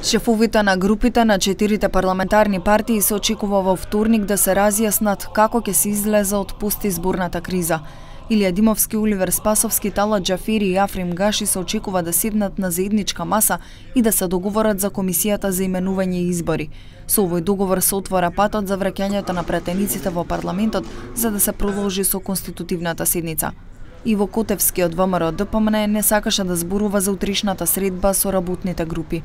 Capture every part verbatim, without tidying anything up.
Шефовите на групите на четирите парламентарни партии се очекува во вторник да се разјаснат како ќе се излезе од постизборната криза. Илија Димовски, Оливер Спасовски, Талат Џафери и Африм Гаши се очекува да седнат на заедничка маса и да се договорат за комисијата за именување и избори. Со овој договор се отвора патот за враќањето на претениците во парламентот за да се продолжи со конститутивната седница. Иво Котевски од ВМРО Д П М Н не сакаше да зборува за утришната средба со работните групи.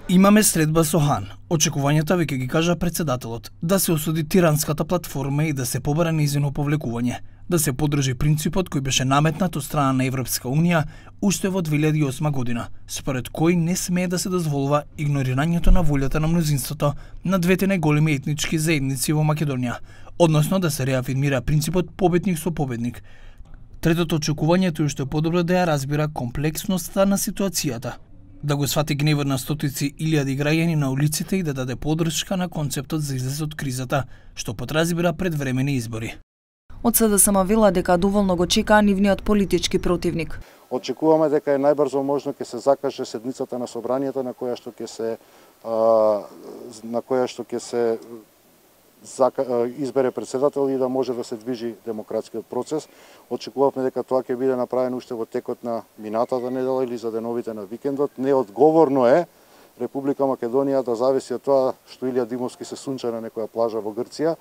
Имаме средба со Хан. Очекувањата веќе ги кажа председателот, да се осуди тиранската платформа и да се побара нејзино повлекување, да се подржи принципот кој беше наметнат од страна на Европска Унија уште во две илјади и осма година, според кој не смее да се дозволува игнорирањето на волјата на мнозинството на двете најголеми етнички заедници во Македонија, односно да се реафирмира принципот победник со победник. Третото очекување е уште подобро да ја разбира комплексноста на ситуацијата, да го свати гневот на стотици илјади граѓани на улиците и да даде подршка на концептот за излез од кризата, што подразбира предвремени избори. Од С Д С М вела дека доволно го чекаа нивниот политички противник. Очекуваме дека е најбрзо можно ќе се закаже седницата на собранието на која што ќе се а, на која што ќе се избере председател и да може да се движи демократскиот процес. Очекувавме дека тоа ќе биде направено уште во текот на минатата недела или за деновите на викендот. Неодговорно е Република Македонија да зависи од тоа што Илија Димовски се сунча на некоја плажа во Грција,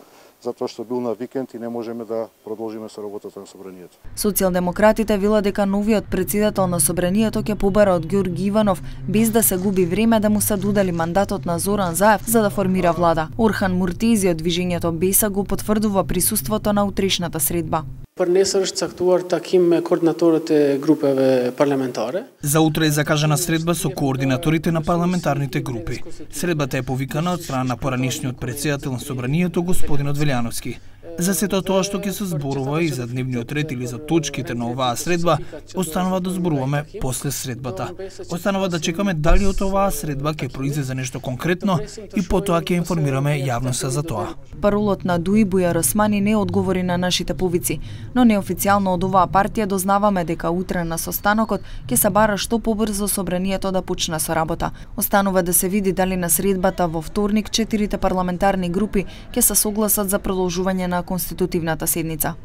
затоа што бил на викенд и не можеме да продолжиме со работата на собранието. Социјалдемократите вела дека новиот председател на собранието ќе побара од Ѓорги Иванов без да се губи време да му се додели мандатот на Зоран Заев за да формира влада. Орхан Муртези од движењето Беса го потврдува присуството на утрешната средба. Për nesër është caktuar takim me koordinatorët e grupeve parlamentare. За утре е закажана средба со координаторите на парламентарните групи. Средбата е повикана од страна на поранишниот председател на собранието господинот Велјановски. За сето тоа што ќе се зборува и за дневниот ред или за точките на оваа средба, останува да зборуваме после средбата. Останува да чекаме дали од оваа средба ќе произлезе нешто конкретно и потоа ќе информираме јавноста за тоа. Паролот на Дуи Бујар Османи не одговори на нашите повици, но неофицијално од оваа партија дознаваме дека утре на состанокот ќе се бара што побрзо собранието да почне со работа. Останува да се види дали на средбата во вторник четирите парламентарни групи ќе се согласат за продолжување на конститутивната седница.